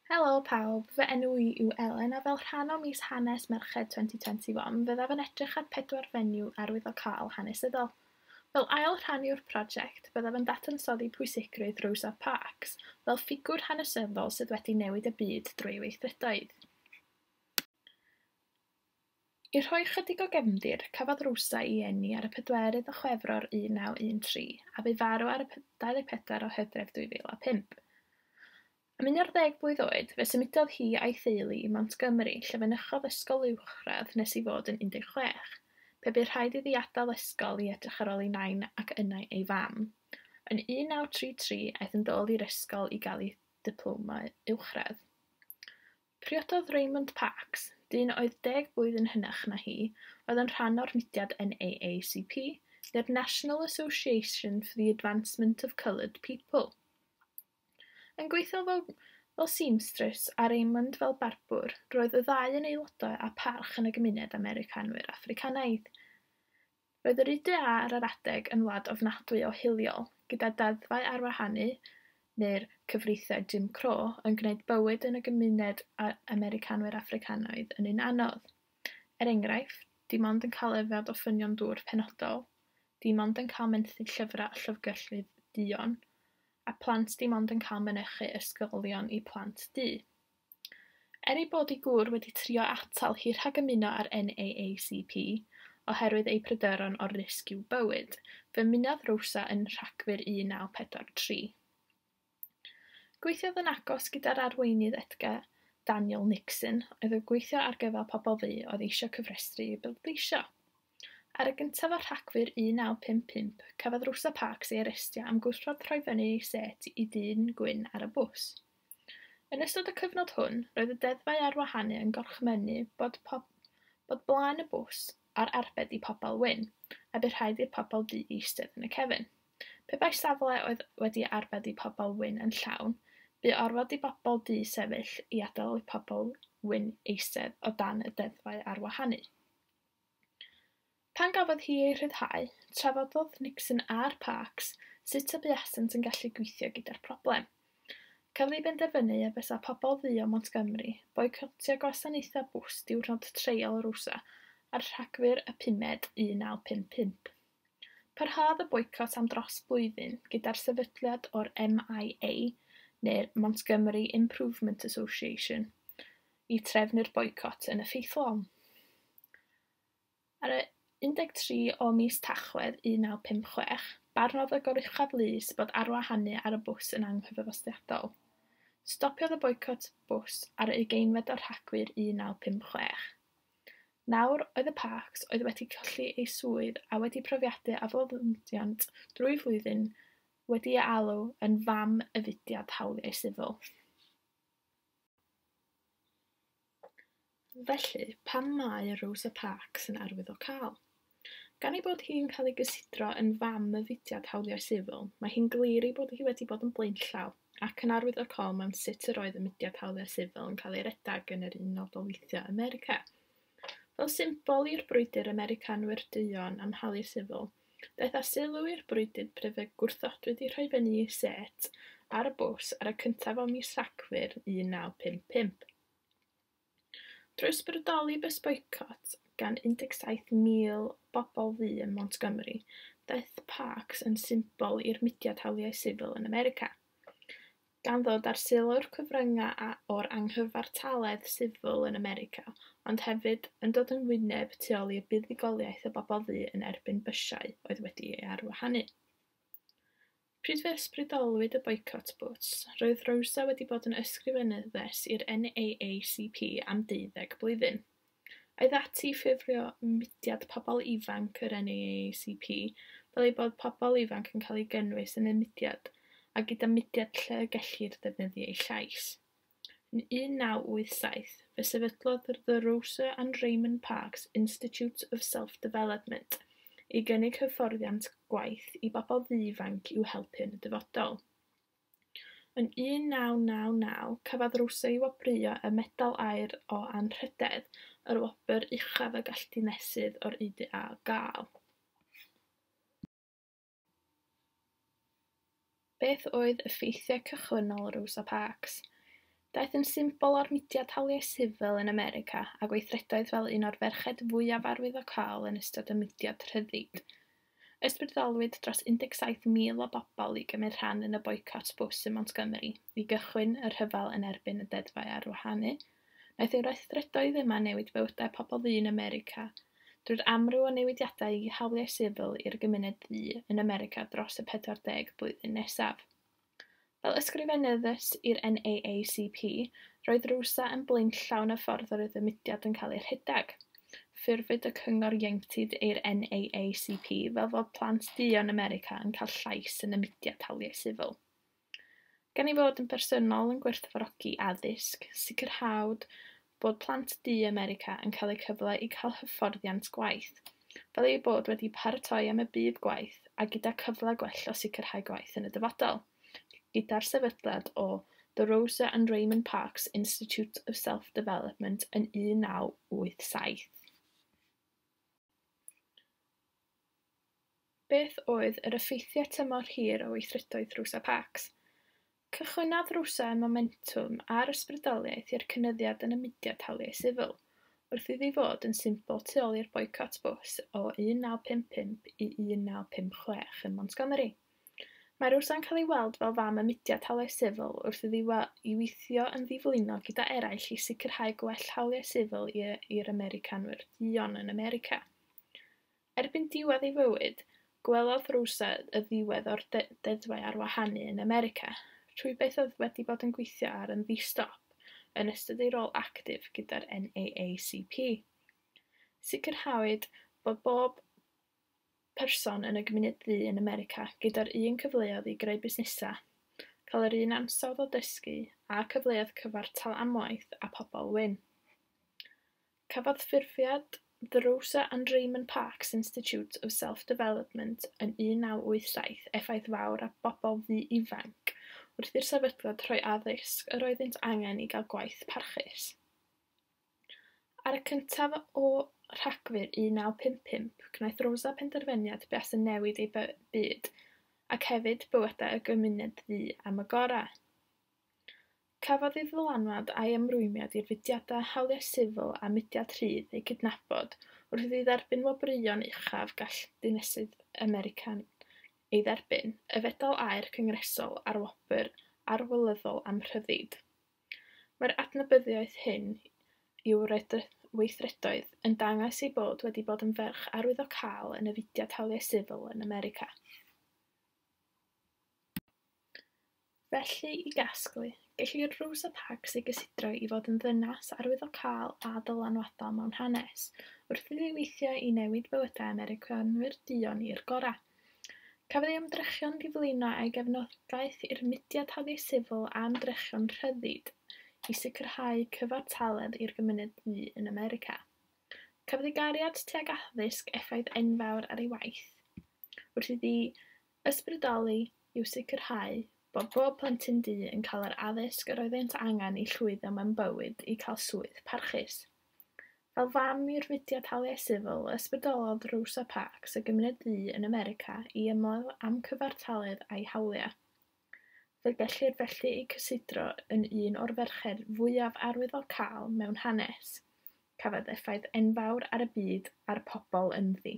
Helo pawb, fy enw i yw Elen a fel rhan o mis Hanes Merched 2021 fyddaf yn edrych ar pedwar fenyw arwyddocaol hanesyddol. Fel ail rhan yw'r prosiect, byddaf yn dadansoddi pwysigrwydd Rosa Parks fel ffigwr hanesyddol sydd wedi newid y byd drwy ei weithredoedd. I rhoi chydig o gefndir, cafodd Rosa ei eni ar y 4 o Chwefror 1913 a bu farw ar y 24 o Hydref 2005. Am 11 blwydd oed, fe symudodd hi a'i theulu i Montgomery, lle fynychodd ysgol uwchradd nes ei fod yn 16, pe bu rhaid iddi adael ysgol i edrych ar ôl ei nain ac yna ei fam. Yn 1933, aeth yn dôl i'r ysgol i gael ei diploma uwchradd. Priododd Raymond Parks, dyn oedd 10 blwyddyn hynach na hi, oedd yn rhan o'r mudiad NAACP, neu'r National Association for the Advancement of Coloured People. Yn gweithio fel seamstress a Raymond fel barbwr, roedd y ddau yn aelodau â pharch yn y gymuned Americanwyr Affricanaidd. Roedd yr UDA ar yr adeg yn wlad ofnadwy o hiliol, gyda deddfau arwahanu, neu'r cyfreithiau Jim Crow, yn gwneud bywyd yn y gymuned Americanwyr Affricanaidd yn un anodd. Er enghraifft, dim ond yn cael yfed o ffynion dŵr penodol, dim ond yn cael menthyg llyfrau a llyfrgelloedd duon, a plant dim ond yn cael mynychu ysgolion i plant du. Er ei bod ei gŵr wedi trio atal hi rhag ymuno â'r NAACP oherwydd ei pryderon o'r risg i'w bywyd, fe ymunodd Rosa yn Rhagfyr 1943. Gweithiodd yn agos gyda'r arweinydd Edgar Daniel Nixon, oedd yn gweithio ar gyfer pobl ddu oedd eisiau cyfrestru i bleidleisio. Ar y gyntaf o Rhagfyr 1955, cafodd Rosa Parks ei arestio am gwrthod rhoi fyny ei set i ddyn gwyn ar y bws. Yn ystod y cyfnod hwn, roedd y deddfau arwahanu yn gorchmynnu bod blaen y bws ar arbed i pobl wyn, a bu rhaid i'r pobl du eistedd yn y cefn. Pe bai safle oedd wedi arbed i pobl wyn yn llawn, bu orfod i bobl du sefyll i adael i pobl wyn eistedd o dan y deddfau arwahanu. Pan gafodd hi ei rhyddhau, trafododd Nixon a'r Parks sut y buasent yn gallu gweithio gyda'r broblem. Cafodd ei benderfynu y bysa pobl ddu o Montgomery boicotio gwasanaethau bws diwrnod treial Rosa ar Rhagfyr y 5 1955. Parhaodd y boicot am dros blwyddyn gyda'r sefydliad o'r MIA, neu'r Montgomery Improvement Association, i trefnu'r boicot yn effeithlon. Ar y 13 o mis Tachwedd 1956, barnodd y Goruchaf Lys bod arwahanu ar y bws yn anghyfansoddiadol. Stopiodd y boicot bws ar y 20 o Rhagfyr 1956. Nawr oedd y Parks oedd wedi colli ei swydd a wedi profiadu aflonyddant drwy flwyddyn wedi ei alw yn fam y fudiad hawliau sifil. Felly, pam mae Rosa Parks yn arwyddocaol? Gan ei bod hi'n cael ei gysidro yn fam y fudiad hawliau sifil, mae hi'n glir ei bod hi wedi bod yn blaenllaw ac yn arwyddocaol mewn sut yr oedd y mudiad hawliau sifil yn cael ei redeg yn yr Unol Daleithiau America. Fel symbol i'r brwydr Americanwyr duon am hawliau sifil, daeth â sylw i'r brwydr pryd fe gwrthodwyd i rhoi fyny ei set ar y bws ar y cyntaf o mis Rhagfyr 1955. Drwy ysbrydoli bws boicot gan 17,000 bobl ddu ym Montgomery, daeth Parks yn symbol i'r mudiad hawliau sifil yn America, gan ddod ar sylw'r cyfryngau o'r anghyfartaledd sifil yn America, ond hefyd yn dod yn wyneb tu ôl i'r buddugoliaeth y bobl ddu yn erbyn bysiau oedd wedi ei arwahanu. Pryd fe ysbrydolwyd y boicot bws, roedd Rosa wedi bod yn ysgrifenyddes i'r NAACP am 12 blwyddyn. Aeth ati i ffurfio mudiad pobl ifanc yr NAACP fel ei bod pobl ifanc yn cael eu gynnwys yn y mudiad a gyda mudiad lle y gellir defnyddio eu llais. Yn 1987, fe sefydlodd The Rosa and Raymond Parks Institute of Self-Development i gynnig hyfforddiant gwaith i bobl ddu ifanc i'w helpu yn y dyfodol. Yn 1999, cafodd Rosa ei wobrwyo y Medal Aur o Anrhydedd, yr wobr uchaf y gall dinesydd o'r UDA gael. Beth oedd effeithiau cychwynnol Rosa Parks? Daeth yn symbol o'r mudiad hawliau sifil yn America a gweithredoedd fel un o'r ferched fwyaf arwyddocaol yn ystod y mudiad rhyddid. Ysbrydolwyd dros 17,000 o bobl i gymryd rhan yn y boicot bws ym Montgomery i gychwyn y rhyfel yn erbyn y deddfau arwahanu. Wnaeth ei weithredoedd yma newid bywydau pobl ddu yn America drwy'r amryw o newidiadau i hawliau sifil i'r gymuned ddu yn America dros y 40 blwyddyn nesaf. Fel ysgrifenyddes i'r NAACP, roedd Rosa yn blaenllaw yn y ffordd yr oedd y mudiad yn cael ei rhedeg. Ffurfwyd y Cyngor Ieuenctid i'r NAACP fel fod plant duon America yn cael llais yn y mudiad hawliau sifil. Gan ei fod yn bersonol yn gwerthfawrogi addysg, sicrhawd bod plant du America yn cael eu cyfle i cael hyfforddiant gwaith, fel eu bod wedi paratoi am y byd gwaith a gyda cyfle gwell o sicrhau gwaith yn y dyfodol, gyda'r sefydliad o The Rosa and Raymond Parks Institute of Self-Development yn 1987. Beth oedd yr effeithiau tymor hir o weithredoedd Rosa Parks? Cychwynnodd Rosa y momentwm a'r ysbrydoliaeth i'r cynyddiad yn y mudiad hawliau sifil, wrth iddi fod yn symbol tu ôl i'r boicot bws o 1955 i 1956 ym Montgomery. Mae Rosa'n cael ei weld fel fam y mudiad hawliau sifil wrth iddi i weithio yn ddiflino gyda eraill i sicrhau gwell hawliau sifil i'r Americanwyr duon yn America. Erbyn diwedd ei fywyd, gwelodd Rosa y ddiwedd o'r deddfau arwahanu yn America, rhywbeth oedd wedi bod yn gweithio ar yn ddi-stop yn ystod ei rôl actif gyda'r NAACP. Sicrhawyd bod bob person yn y gymuned ddu yn America gyda'r un cyfleoedd i greu busnesau, cael yr un ansawdd o dysgu a cyfleoedd cyfartal am waith a pobl wyn. Cafodd ffurfiad The Rosa and Raymond Parks Institute of Self-Development yn 1987 effaith fawr ar bobl ddu ifanc wrth i'r sefydliad rhoi addysg yr oeddynt angen i gael gwaith parchus. Ar y cyntaf o Rhagfyr 1955, gwnaeth Rosa penderfyniad buasai yn newid ei byd, ac hefyd bywydau y gymuned ddu am y gorau. Cafodd ei ddylanwad a'i ymrwymiad i'r fudiadau hawliau sifil a mudiad rhydd eu cydnabod wrth iddi dderbyn wobrwyon uchaf gall dinesydd American ei dderbyn, y Fedal Aur Cyngresol a'r Wobr Arlywyddol am Rhyddid. Mae'r adnabyddiaeth hyn i'w weithredoedd yn dangos ei bod wedi bod yn ferch arwyddocaol yn y fudiad hawliau sifil yn America. Felly, i gasglu, gellir Rosa Parks ei gysidro i fod yn ddynas arwyddocaol a dylanwadol mewn hanes, wrth iddi weithio i newid bywydau Americanwyr duon i'r gorau. Cafodd ei ymdrechion diflino a'i gefnogaeth i'r mudiad hawliau sifil a ymdrechion rhyddid i sicrhau cyfartaledd i'r gymuned ddu yn America. Cafodd ei gariad tuag addysg effaith enfawr ar ei waith, wrth iddi ysbrydoli i'w sicrhau bod bob plentyn du yn cael yr addysg yr oeddent angen i llwyddo mewn bywyd i cael swydd parchus. Fel fam i'r mudiad hawliau sifil, ysbrydolodd Rosa Parks y gymuned ddu yn America i ymladd am cyfartaledd a'i hawliau. Fe gellir felly ei cysidro yn un o'r ferched fwyaf arwyddocaol mewn hanes. Cafodd effaith enfawr ar y byd a'r pobl ynddi.